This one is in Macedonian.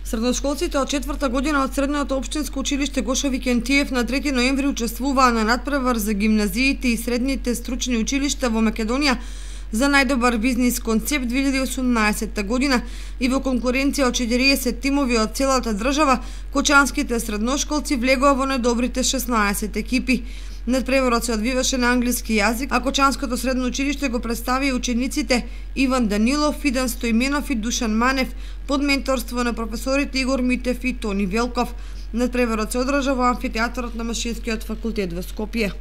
Средношколците од 4-та година од Средното општинско училиште Гошо Викентиев на 3 ноември учествуваа на надпревар за гимназиите и средните стручни училишта во Македонија за најдобар бизнис концепт 2018 година и во конкуренција од 40 тимови од целата држава, кочанските средношколци влегоа во најдобрите 16 екипи. Надпреварот се одвиваше на англиски јазик, а Кочанското средно училиште го представи учениците Иван Данилов, Фидан Стоименов и Душан Манев под менторство на професорите Игор Митев и Тони Велков. Надпреварот се одржа во амфитеатарот на Машинскиот факултет во Скопје.